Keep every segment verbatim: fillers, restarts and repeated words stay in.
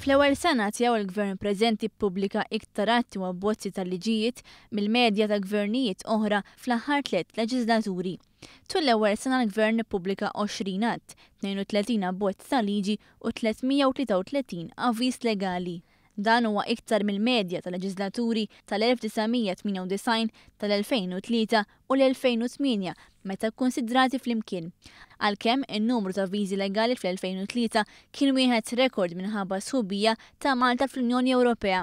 Fl-ewwel sena tiegħu, il-Gvern preżenti ppubblika iktar atti u abbozzi tal-liġijiet mill-medja ta' gvernijiet oħra fl-aħħar tliet leġislaturi. Tul l-ewwel sena l-Gvern ippubblika għoxrin att, tnejn u tletin abbozz ta' liġi u tliet mija u tlieta u tletin avviż legali. Dan huwa iktar mill-medja ta' leġislaturi tal-elf disa' mija tmienja u disgħin, tal-elfejn u tlieta u l-elfejn u tmienja meta kkonsidrati flimkien. Għalkemm in-numru ta' avviżi legali fl-elfejn u tlieta kien wieħed rekord minħabba sħubija ta' Malta fl-Unjoni Ewropea.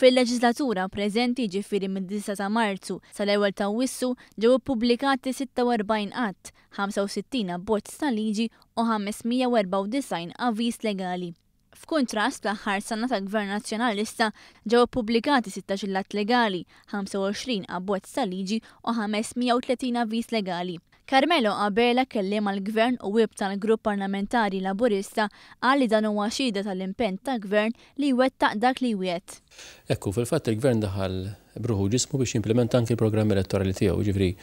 Fil-leġislatura preżenti, ġifieri mid-disgħa ta' Marzu sal-ewwel ta' Awwissu, ġew ippubblikati sitta u erbgħin att, ħamsa u sittin abbozz ta' liġi u ħames mija u erbgħa u disgħin avviż legali. F'kuntrast, l-aħħar sena ta' Gvern Nazzjonalista ġew ippubblikati sittax-il att legali, ħamsa u għoxrin abbozz ta' liġi u ħames mija u tletin avviż legali. Carmelo Abela, kelliem għall-Gvern u whip tal-Grupp Parlamentari Laburista, qal li dan huwa xhieda tal-impenn ta' Gvern li jwettaq dak li jwiegħed. Ekku, fil-fatt il-Gvern daħal b'ruħu u ġismu biex jimplementa anki l-programm elettorali tiegħu, ġifieri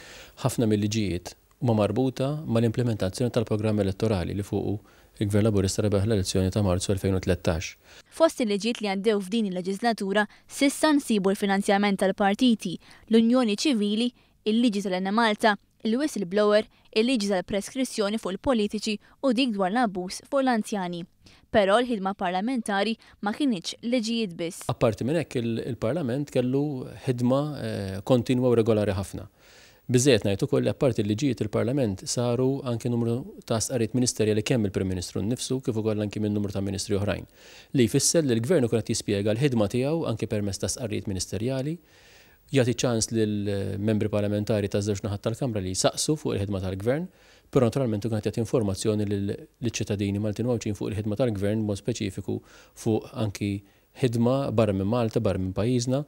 ħafna mill-liġijiet huma marbuta mal-implementazzjoni tal-programm elettorali li fuqu il-Gvern Laburista rebaħ l-elezzjoni ta' Marzu elfejn u tlettax. Fost il-liġijiet li għaddew f'din il-leġislatura s'issa nsibu l-finanzjament tal-partiti, l-Unjoni Ċivili, il-liġi tal-Enemalta, il-whistleblower, il-liġi tal-preskrizzjoni fuq il-politiċi u dik dwar l-abbuż fuq l-anzjani. Però l-ħidma parlamentari ma kinitx liġijiet biss. Apparti minn hekk, il-Parlament kellu ħidma eh, kontinwa u regolari ħafna. Biżżejjed ngħid ukoll li apparti l-liġijiet, il-Parlament saru anke numru ta' stqarrijiet ministerjali, kemm il-Prim Ministru nnifsu kif ukoll anke minn numru ta' ministri oħrajn. Li jfisser li l-Gvern ukoll qed jispjega l-ħidma tiegħu anke permezz ta' stqarrijiet ministerjali, jagħti ċans lill-membri parlamentari ta' żewġ naħat tal-Kamra li jsaqsu fuq il-ħidma tal-Gvern, però naturalment ukoll qed jagħti informazzjoni lill-ċittadini Maltin u Għawdxin fuq il-ħidma tal-Gvern, mod speċifiku fuq anki ħidma barra minn Malta, barra minn pajjiżna.